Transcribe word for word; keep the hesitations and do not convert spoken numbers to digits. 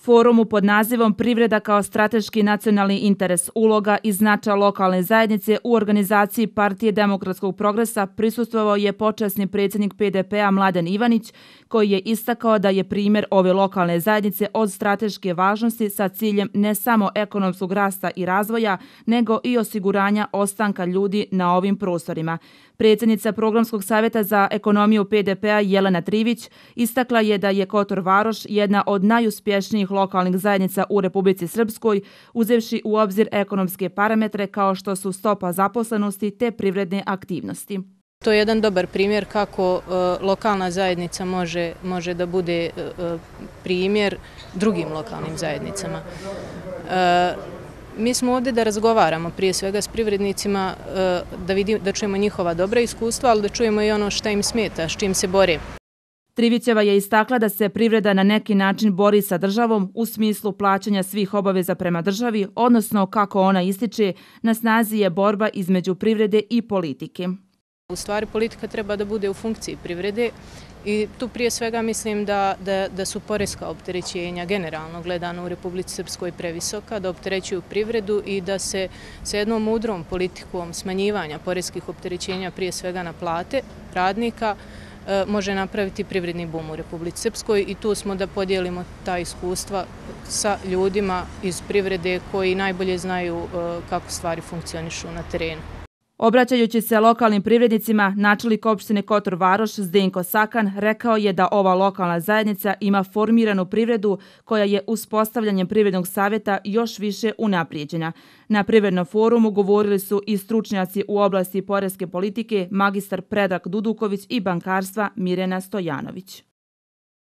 Forumu pod nazivom Privreda kao strateški nacionalni interes, uloga i značaj lokalne zajednice u organizaciji Partije demokratskog progresa prisustvovao je počasni predsjednik P D P-a Mladen Ivanić, koji je istakao da je primjer ove lokalne zajednice od strateške važnosti sa ciljem ne samo ekonomskog rasta i razvoja, nego i osiguranja ostanka ljudi na ovim prostorima. Predsjednica Programskog savjeta za ekonomiju P D P-a Jelena Trivić istakla je da je Kotor Varoš jedna od najuspješnijih lokalnih zajednica u Republici Srpskoj, uzevši u obzir ekonomske parametre kao što su stopa zaposlenosti te privredne aktivnosti. To je jedan dobar primjer kako uh, lokalna zajednica može, može da bude uh, primjer drugim lokalnim zajednicama. Uh, Mi smo ovdje da razgovaramo prije svega s privrednicima, da, vidim, da čujemo njihova dobra iskustva, ali da čujemo i ono šta im smeta, s čim se bore. Trivićeva je istakla da se privreda na neki način bori sa državom u smislu plaćanja svih obaveza prema državi, odnosno, kako ona ističe, na snazi je borba između privrede i politike. U stvari politika treba da bude u funkciji privrede i tu prije svega mislim da, da, da su poreska opterećenja generalno gledano u Republici Srpskoj previsoka, da opterećuju privredu i da se sa jednom mudrom politikom smanjivanja poreskih opterećenja prije svega na plate radnika može napraviti privredni bum u Republici Srpskoj i tu smo da podijelimo ta iskustva sa ljudima iz privrede koji najbolje znaju kako stvari funkcionišu na terenu. Obraćajući se lokalnim privrednicima, načelnik opštine Kotor Varoš Zdenko Sakan rekao je da ova lokalna zajednica ima formiranu privredu koja je uspostavljanjem privrednog savjeta još više unaprijeđena. Na privrednom forumu govorili su i stručnjaci u oblasti poreske politike magistar Predrag Duduković i bankarstva Mirjana Stojanović.